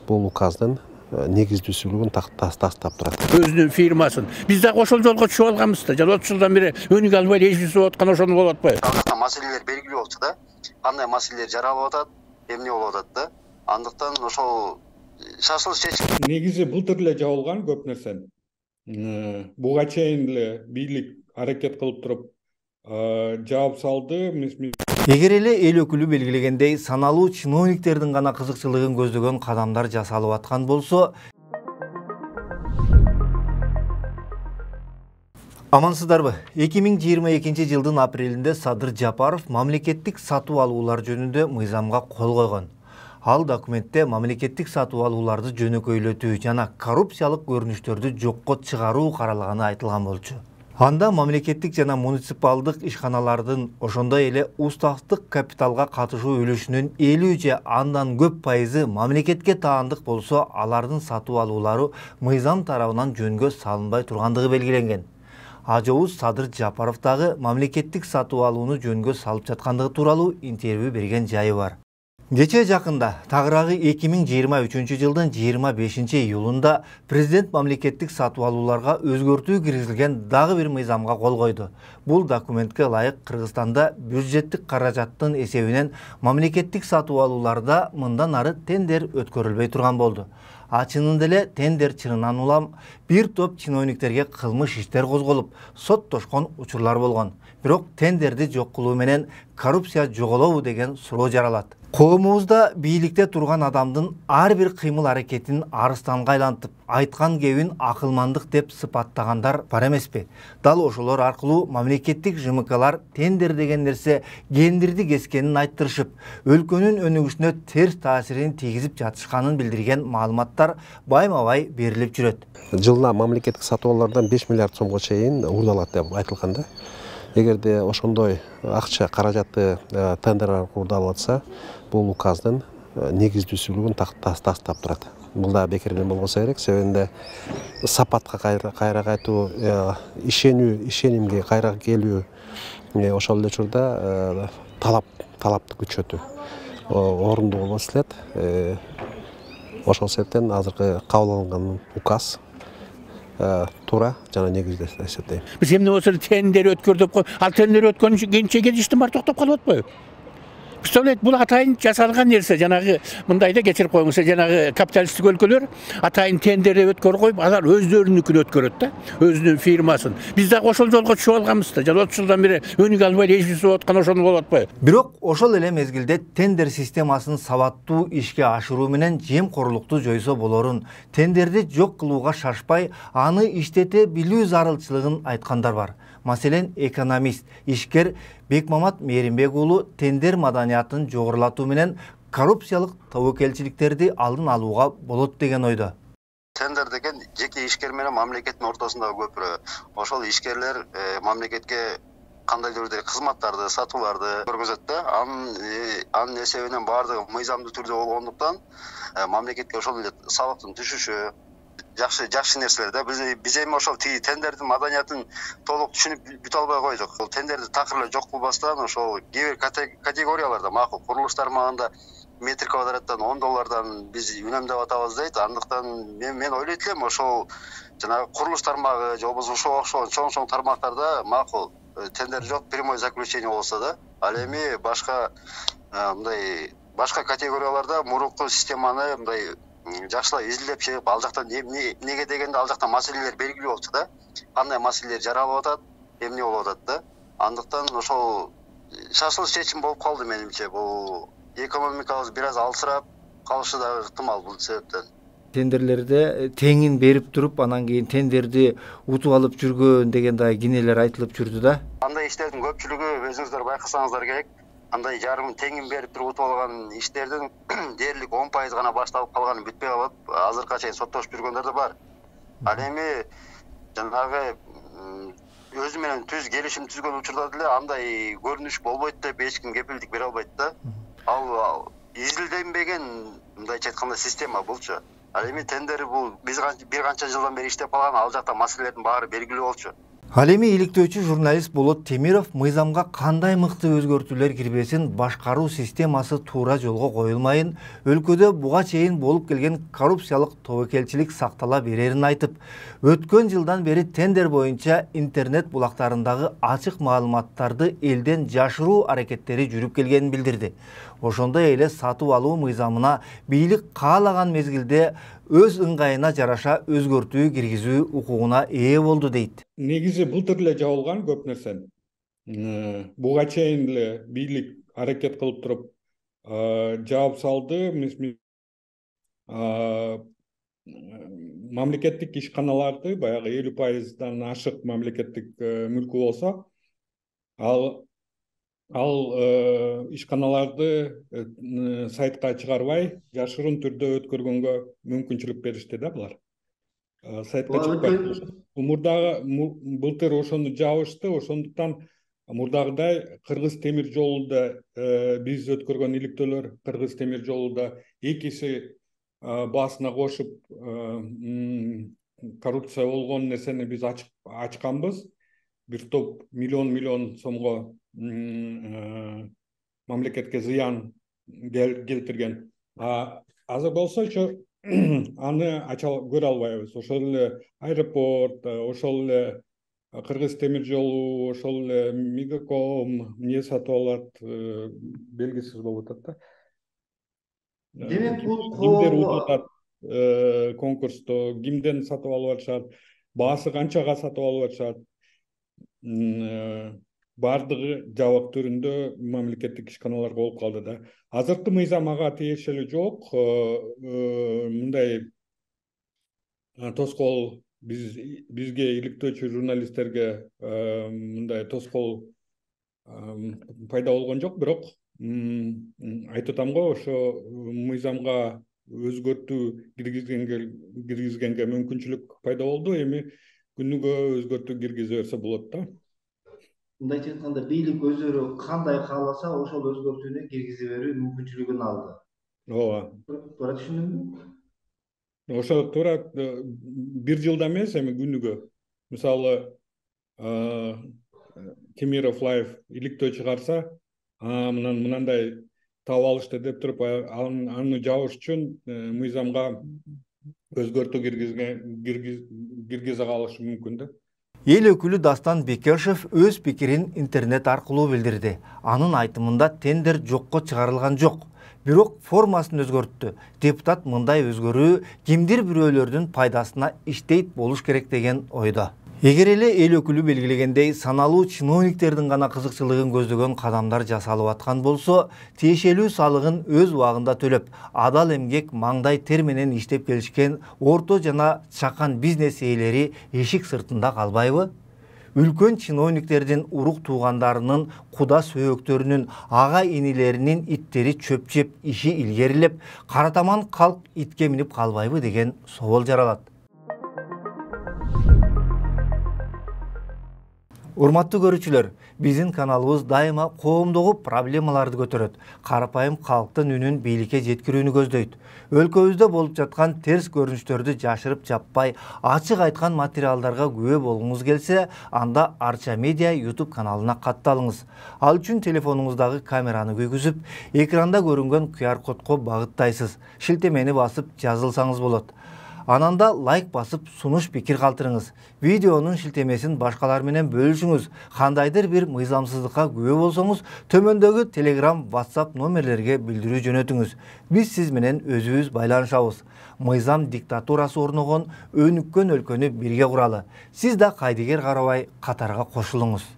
бул указдын негиздүүсүлүгүн тастап турат. Өзүнүн фирмасын. Биз дагы ошол жолго түшүп алганбыз да. Жана 30 жылдан бери өнүк албай эжбиз болуп аткан ошону болуп атпайбы? Андыктан маселелер белгилүү болчу да. Кандай маселелер жаралып атат, эмне болуп атат да. Андыктан ошол шашылыш чечим. Негизи былтыр эле жабылган көп нерсе. Буга чейин эле бийлик аракет кылып туруп жаап салды. Эгер эле эл өкүлү белгилегендей саналуу чиновниктердин гана кызыкчылыгын көздөгөн кадамдар жасалып аткан болсо, амансыздарбы? 2022 жылдын апрелинде Садыр Жапаров мамлекеттик сатуу алуулар жөнүндө мыйзамга кол койгон. Ал документте мамлекеттик сатуу алууларды жөнөкөйлөтүү жана коррупциялык көрүнүштөрдү жокко чыгаруу каралганы айтылган болчу. Анда мамлекеттик жана муниципалдык ишканалардын ошондой эле уставдык капиталга катышуу үлүшүнүн 50 же андан көп пайызы мамлекетке таандык болсо, алардын сатуу алуулары мыйзам тарабынан жөнгө салынбай тургандыгы белгиленген. Ажообуз Садыр Жапаров дагы мамлекеттик сатуу алууну жөнгө салып жаткандыгы тууралуу интервью берген жайы бар. Кечээ жакында тагыраагы 2023 жылдын 25 июлунда президент мамлекеттик сатуу алууларга өзгөртүү киргизилген дагы бир мыйзамга кол койду. Бул документке ылайык Кыргызстанда бюджеттик каражаттын эсебинен мамлекеттик сатуу алууларда мындан ары тендер өткөрүлбөй турган болду. Чынында эле тендер чынынан улам бир топ чиновниктерге кылмыш иштер козголуп, соттошкон учурлар болгон. Бирок тендерди жок кылуу менен коррупция жоголобу деген суроо жаралат. Коомубузда бийликте турган адамдын ар бир кыймыл-аракетин арыстанга айлантып, айткан кебин акылмандык деп сыпаттагандар бар эмеспи? Дал ошолор аркылуу мамлекеттик ЖМКлар тендер деген нерсе гендирди кескенин айттырышып, өлкөнүн өнүгүшүнө терс таасирин тийгизип жатышканын билдирген маалыматтар байма-бай берилип жүрөт. Жылына мамлекеттик сатуу алуулардан 5 миллиард сомго чейин уурдалат деп айтылган да. Эгерде ошондой акча каражаты тендер аркылуу уурдалып атса, бул указдын негиздүүсүлүгүн тастап турат. Бул да бекерден болбосо керек, себебинде сапатка кайра кайтуу, ишенимге кайра келүү, ошол эле учурда талапты күчөтүү орундуу болбос элек. Ошол себептен азыркы кабыл алынган указ туура жана негиздүү деп эсептейм. Биз эмне болсо тендер өткөрдөп кой. Ал тендер өткөрүнчө кийинче кетиштин баары токтоп калып атпайбы? Представляете, бул атайын жасалган нерсе. Жанагы мындайда кечирип коюңуз, жанагы капиталисттик өлкөлөр атайын тендер өткөрүп коюп, алар өздөрүнүкүн өткөрөт да, өзүнүн фирмасын. Биз дагы ошол жолго түшүп алганбыз да. Жана 30 жылдан бери өнүк албай эжбиз болуп аткан ошону болуп атпайбы? Бирок ошол эле мезгилде тендер системасын сабаттуу ишке ашыруу менен жемкорлукту жойсо болорун, тендерди жок кылууга шашпай, аны иштете билүү зарылчылыгын айткандар бар. Маселен, экономист, ишкер Бекмамат Мээринбек уулу тендер маданиятын жогорулатуу менен коррупциялык тобокелчиликтерди алдын алууга болот деген ойдо. Тендер деген жеке ишкер менен мамлекеттин ортосундагы көпүрө. Ошол ишкерлер мамлекетке кандайдыр бир кызматтарды, сатууларды көргөзөт да. Анын эсебинен баардыгы мыйзамдуу түрдө болгондуктан мамлекетке ошол эле салыктын түшүшү жакшы нерселер да. Биз эми ошол тендердин маданиятын толук түшүнүп бүтө албай койдук. Ол тендерди такыр эле жок кылбастан ошол кээ бир категорияларда макул курулуш тармагында метр квадраттан $10 биз үнөмдөп атабыз дейт. Андыктан мен ойлойт элем ошол жанагы курулуш тармагы же болбосо ошого окшогон чоң тармактарда макул тендер жок, прямой заключение болсо да. Ал эми башка категорияларда мурунку системаны мындай жакшылап изилдеп чыгып, ал жактан эмнеге дегенде ал жактан маселелер белгилүү болчу да. Кандай маселелер жаралып атат, эмне болуп атат да. Андыктан ошол шашылыш чечим болуп калды менимче. Бул экономикабыз бир аз алсырап калышы да ыктымал бул себептен. Тендерлерде теңин берип туруп, анан кийин тендерди утуп алып жүргөн деген да кинелер айтылып жүрдү да. Андай иштердин көпчүлүгү өзүңүздөр байкасаңыздар керек. Андай жарым теңин берип туруп утуп алган иштердин дээрлик 10% гана башталып калганы бүтпөй калып, азыркыга чейин соттошуп жүргөндөр да бар. Ал эми жанагы өзү менен келишим түзгөн учурда деле андай көрүнүш болбойт деп эч ким кепилдик бере албайт да. Ал изилденбеген, мындайча айтканда, система булчу. Ал эми тендер бул биз бир канча жылдан бери иштеп калган, ал жакта маселелердин баары белгилүү болчу. Ал эми иликтөөчү журналист Болот Темиров мыйзамга кандай мыкты өзгөртүүлөр кирбесин башкаруу системасы туура жолго коюлмайын, өлкөдө буга чейин болуп келген коррупциялык тобокелчилик сактала берерин айтып, өткөн жылдан бери тендер боюнча интернет булактарындагы ачык маалыматтарды элден жашыруу аракеттери жүрүп келгенин билдирди. Ошондой эле сатып алуу мыйзамына бийлик каалаган мезгилде өз ыңгайына жараша өзгөртүү киргизүү укугуна ээ болду дейт. Негизи былтыр эле жабылган көп нерсен. Буга чейин эле бийлик аракет кылып туруп жаап салды. Мамлекеттик ишканаларды баягы 50%дан ашык мамлекеттик мүлкү болсо, ал ишканаларды сайтка чыгарбай, жашырын түрдө өткөргөнгө мүмкүнчүлүк беришти да булар. Сайтка чыкпайт. Былтыр ошону жабышты, ошондуктан мурдагыдай Кыргыз темир жолунда биз өткөргөн иликтөөлөр Кыргыз темир жолунда экиси баасына кошуп коррупция болгон нерсени биз ачканбыз. Бир топ миллион сомго мамлекетке зыян келтирген. Азыр болсочу аны көрө албайбыз. Ошол эле аэропорт, ошол эле Кыргыз темир жолу, ошол эле Мегаком эмне сатып алат, белгисиз болуп атат да. Демек бул кимдер утат конкурсту, кимден сатып алып атышат, баасы канчага сатып алып атышат. Бардыгы жабык түрүндө мамлекеттик ишканаларга болуп калды да. Азыркы мыйзам ага тиешелүү жок. Мындай тоскоол бизге иликтөөчү журналисттерге мындай тоскоол пайда болгон жок, бирок айтып атам го, ошо мыйзамга өзгөртүү киргизгенге мүмкүнчүлүк пайда болду. Эми күнүгө өзгөртүү киргизе берсе болот да. Мындайча айтканда, бийлик өздөрү кандай кааласа, ошол өзгөртүүнү киргизе берүү мүмкүнчүлүгүн алды. Ооба. Туура түшүндүмбү? Ошо туура бир жылда эмес, эми күнүгө. Мисалы, Темиров Лайф иликтөө чыгарса, мынандай таап алышты деп туруп, аны жабыш үчүн мыйзамга өзгөртүү киргизе калышы мүмкүн да. Эл өкүлү Дастан Бекешев өз пикирин интернет аркылуу билдирди. Анын айтымында тендер жокко чыгарылган жок, бирок формасын өзгөрттү. Депутат мындай өзгөрүү кимдир бирөөлөрдүн пайдасына иштейт болуш керек деген ойдо. Эгер эле эл өкүлү белгилегендей саналуу чиновниктердин гана кызыкчылыгын көздөгөн кадамдар жасалып аткан болсо, тиешелүү салыгын өз убагында төлөп, адал эмгек, маңдай тер менен иштеп келишкен орто жана чакан бизнес ээлери эшик сыртында калбайбы? Үлкөн чиновниктердин урук туугандарынын, куда сөөктөрүнүн, ага инилеринин иттери чөп жеп, иши илгерилеп, каратаман калк итке минип калбайбы деген собол жаралат. Урматтуу көрүүчүлөр, биздин каналыбыз дайыма коомдогу проблемаларды көтөрөт, карапайым калктын үнүн бийликке жеткирүүнү көздөйт. Өлкөбүздө болуп жаткан терс көрүнүштөрдү жашырып жаппай, ачык айткан материалдарга күбө болгуңуз келсе, анда Арча Медиа YouTube каналына катталыңыз. Ал үчүн телефонуңуздагы камераны күйгүзүп, экранда көрүнгөн QR кодко багыттайсыз. Шилтемени басып жазылсаңыз болот. Ананда лайк басып сунуш пикир калтырыңыз. Видеонун шилтемесин башкалар менен бөлүшүңүз. Кандайдыр бир мыйзамсыздыкка күбө болсоңуз, төмөндөгү Telegram, WhatsApp номерлерге билдирүү жөнөтүңүз. Биз сиз менен өзүбүз байланышабыз. Мыйзам диктатурасы орногон өнүккөн өлкөнү бирге куралы. Сиз да кайдыгер карабай катарга кошулуңуз.